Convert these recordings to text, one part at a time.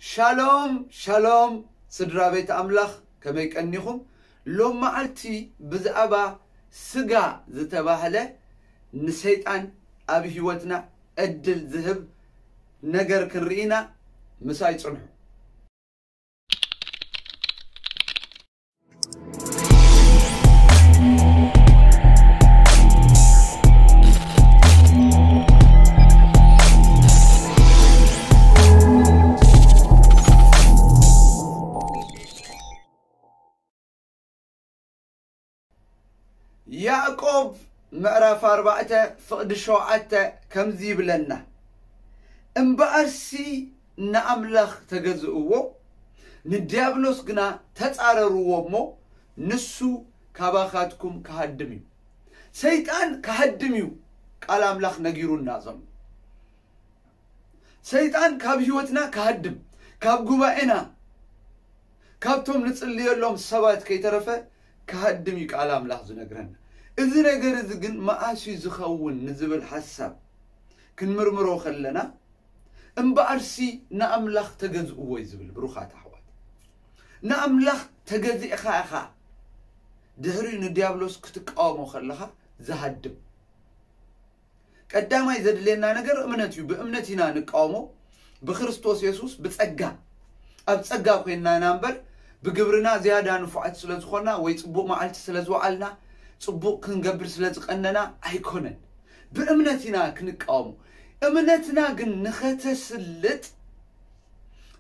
ሻሎም ሻሎም፣ ስድራ ቤት ኣምላኽ፣ ከመይ ቀኒኹም? ሎም መዓልቲ ብዛዕባ ስጋ ዝተባህለ ንሰይጣን ኣብ ህይወትና ዕድል ዝህብ ነገር ክንርኢ ኢና። ምሳይ ጽንሑ። ያዕቆብ ምዕራፍ ኣርባዕተ ፍቕዲ ሸውዓተ ከምዚ ይብለና፣ እምበኣርሲ ንኣምላኽ ተገዝእዎ፣ ንድያብሎስ ግና ተጻረርዎ እሞ ንሱ ካባኻትኩም ክሃድም እዩ። ሰይጣን ክሃድም እዩ ቃል ኣምላኽ ነጊሩና ዘሎ። ሰይጣን ካብ ህይወትና ክሃድም፣ ካብ ጉባኤና፣ ካብቶም ንጽልየሎም ሰባት ከይተረፈ ክሃድም እዩ ቃል ኣምላኽ ዝነግረና። እዚ ነገር እዚ ግን መኣስ እዩ ዝኸውን ንዝብል ሓሳብ ክንምርምሮ ከለና፣ እምበኣርሲ ንኣምላኽ ተገዝእዎ እዩ ዝብል። ብሩኻት ኣሕዋት፣ ንኣምላኽ ተገዚእኻ ኢኻ ድሕሪኡ ንዲያብሎስ ክትቃወሞ ከለኻ ዝሃድም። ቀዳማይ ዘድልየና ነገር እምነት እዩ። ብእምነት ኢና ንቃወሞ፣ ብክርስቶስ የሱስ ብጸጋ። ኣብ ጸጋ ኮይንና ኢና እምበር፣ ብግብርና ዝያዳ ንፉዓት ስለ ዝኾንና ወይ ጽቡቕ መዓልቲ ስለ ዝወዓልና፣ ጽቡቕ ክንገብር ስለ ዝቐነና ኣይኮነን። ብእምነት ኢና ክንቃወሞ። እምነትና ግን ንኸተስልጥ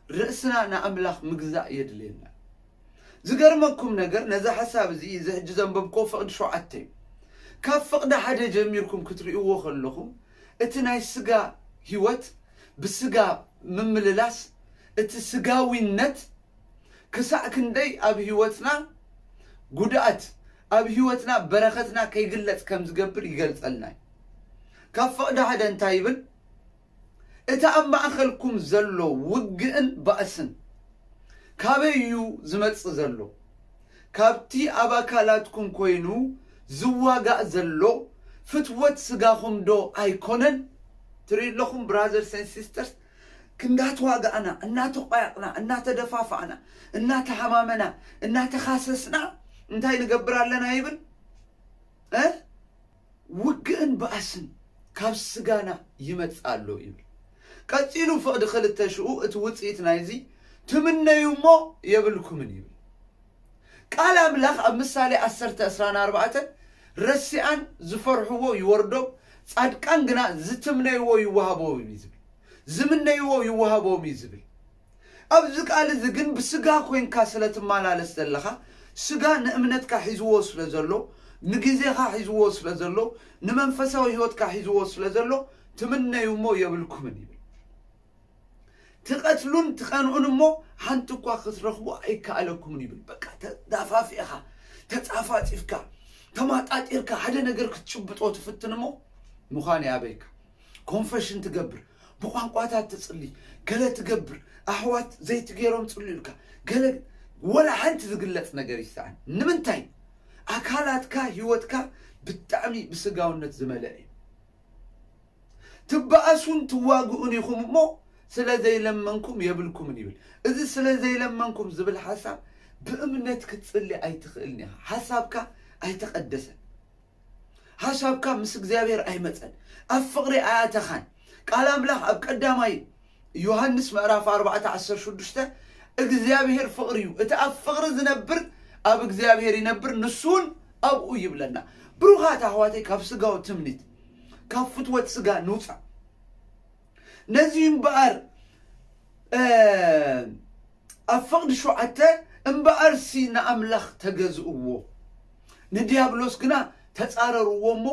ርእስና ንኣምላኽ ምግዛእ የድልየና። ዝገርመኩም ነገር፣ ነዚ ሓሳብ እዚ፣ እዚ ሕጂ ዘንበብክዎ ፍቕዲ ሸውዓተ እዩ። ካብ ፍቕዲ ሓደ ጀሚርኩም ክትርእይዎ ከለኹም፣ እቲ ናይ ስጋ ህይወት፣ ብስጋ ምምልላስ፣ እቲ ስጋዊነት ክሳዕ ክንደይ ኣብ ህይወትና ጉድኣት፣ ኣብ ህይወትና በረኸትና ከይግለጽ ከም ዝገብር ይገልጸልና እዩ። ካብ ፍቕዲ ሓደ እንታይ ይብል? እቲ ኣብ ማእከልኩም ዘሎ ውግእን ባእስን ካበይ እዩ ዝመጽእ ዘሎ? ካብቲ ኣብ ኣካላትኩም ኮይኑ ዝዋጋእ ዘሎ ፍትወት ስጋኹም ዶ ኣይኮነን? ትርእዩ ኣለኹም፣ brothers and sisters፣ ክንዳተዋጋእና፣ እናተቋየቕና፣ እናተደፋፋዕና፣ እናተሓማመና፣ እናተኻሰስና እንታይ ንገብር ኣለና ይብል? እ? ውግእን ባእስን ካብ ስጋና ይመጽእ ኣሎ ይብል። ቀጺሉ ፍቕዲ ክልተ ሽኡ እቲ ውጽኢት ናይዚ ትምነዩ እሞ የብልኩምን ይብል። ቃል ኣምላኽ ኣብ ምሳሌ ዓሰርተ ዕስራን ኣርባዕተን፣ ረሲኣን ዝፈርሕዎ ይወርዶም፣ ጻድቃን ግና ዝትምነይዎ ይወሃቦም እዩ ዝብል። ዝምነይዎ ይወሃቦም እዩ ዝብል። ኣብዚ ቃል እዚ ግን ብስጋ ኮይንካ ስለ ትመላለስ ዘለኻ፣ ስጋ ንእምነትካ ሒዝዎ ስለ ዘሎ፣ ንግዜኻ ሒዝዎ ስለ ዘሎ፣ ንመንፈሳዊ ህይወትካ ሒዝዎ ስለ ዘሎ፣ ትምነዩ እሞ የብልኩምን ይብል። ትቐትሉን ትቐንኡን እሞ ሓንቲ እኳ ክትረኽቡ ኣይከኣለኩምን ይብል። በቃ ተዳፋፊእኻ፣ ተጻፋጺፍካ፣ ተማጣጢርካ ሓደ ነገር ክትጭብጦ ትፍትን እሞ ምዃን ይኣበይካ። ኮንፈሽን ትገብር፣ ብቋንቋታት ትጽሊ፣ ገለ ትገብር፣ ኣሕዋት ዘይቲ ገይሮም ጽልዩ ኢልካ፣ ገለ ወላ ሓንቲ ዝግለጽ ነገር ይሰኣን። ንምንታይ? ኣካላትካ፣ ህይወትካ ብጣዕሚ ብስጋውነት ዝመልአ እዩ። ትበኣሱን ትዋግኡን ኢኹም እሞ ስለ ዘይለመንኩም የብልኩምን ይብል። እዚ ስለ ዘይለመንኩም ዝብል ሓሳብ ብእምነት ክትጽሊ ኣይትኽእልን ኢኻ። ሓሳብካ ኣይተቐደሰን። ሓሳብካ ምስ እግዚኣብሔር ኣይመጸን። ኣብ ፍቕሪ ኣያተኻን። ቃል ኣምላኽ ኣብ ቀዳማይ ዮሃንስ ምዕራፍ ኣርባዕተ ዓሰርተ ሽዱሽተ እግዚኣብሔር ፍቕሪ እዩ። እቲ ኣብ ፍቕሪ ዝነብር ኣብ እግዚኣብሔር ይነብር፣ ንሱ እውን ኣብኡ ይብለና። ብሩኻት ኣሕዋተይ፣ ካብ ስጋዊ ትምኒት፣ ካብ ፍትወት ስጋ ንውጻእ። ነዚ እምበኣር፣ እ፣ ኣብ ፍቕዲ ሸውዓተ፣ እምበኣርሲ ንኣምላኽ ተገዝእዎ፣ ንዲያብሎስ ግና ተጻረርዎ እሞ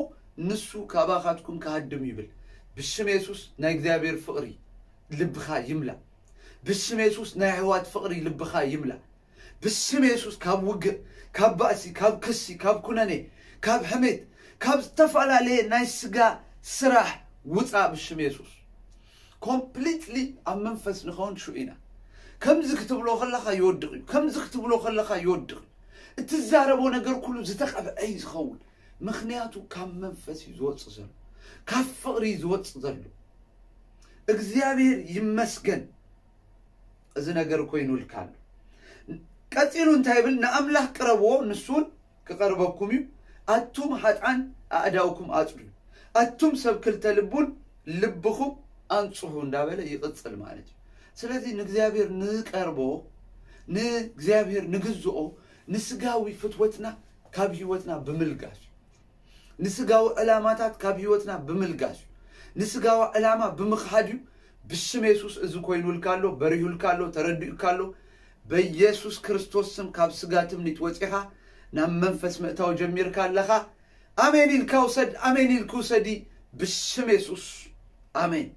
ንሱ ካባኻትኩም ክሃድም ይብል። ብሽም የሱስ ናይ እግዚኣብሔር ፍቕሪ ልብኻ ይምላእ። ብስም የሱስ ናይ ኣሕዋት ፍቕሪ ልብኻ ይምላእ። ብስም የሱስ ካብ ውግእ፣ ካብ ባእሲ፣ ካብ ክሲ፣ ካብ ኩነኔ፣ ካብ ሕሜት፣ ካብ ዝተፈላለየ ናይ ስጋ ስራሕ ውጻእ ብሽም የሱስ። ኮምፕሊትሊ ኣብ መንፈስ ንኸውን ሽኡ ኢና። ከምዚ ክትብሎ ከለኻ ይወድቕ እዩ፣ ከምዚ ክትብሎ ከለኻ ይወድቕ እዩ። እትዛረቦ ነገር ኩሉ ዝተቐብዐ እዩ ዝኸውን። ምኽንያቱ ካብ መንፈስ እዩ ዝወጽእ ዘሎ፣ ካብ ፍቕሪ እዩ ዝወጽእ ዘሎ። እግዚኣብሔር ይመስገን። እዚ ነገር ኮይኑልካ ኣሎ። ቀጺሉ እንታይ ይብል? ንኣምላኽ ቅረብዎ፣ ንሱን ክቐርበኩም እዩ። ኣቱም ሃጥዓን ኣእዳውኩም ኣጽድዩ፣ ኣቱም ሰብ ክልተ ልቡን ልብኹም ኣንጽሁ እንዳበለ ይቕጽል ማለት እዩ። ስለዚ ንእግዚኣብሔር ንቀርቦ፣ ንእግዚኣብሔር ንግዝኦ፣ ንስጋዊ ፍትወትና ካብ ህይወትና ብምልጋስ እዩ። ንስጋዊ ዕላማታት ካብ ህይወትና ብምልጋስ እዩ። ንስጋዊ ዕላማ ብምኽሓድ እዩ። ብስም የሱስ እዚ ኮይኑልካ ኣሎ፣ በሪሁልካ ኣሎ፣ ተረዲኡካ ኣሎ። በኢየሱስ ክርስቶስ ስም ካብ ስጋ ትምኒት ወፂኻ ናብ መንፈስ ምእታው ጀሚርካ ኣለኻ። ኣሜን ኢልካ ውሰድ፣ ኣሜን ኢልክ ውሰዲ። ብስም የሱስ ኣሜን።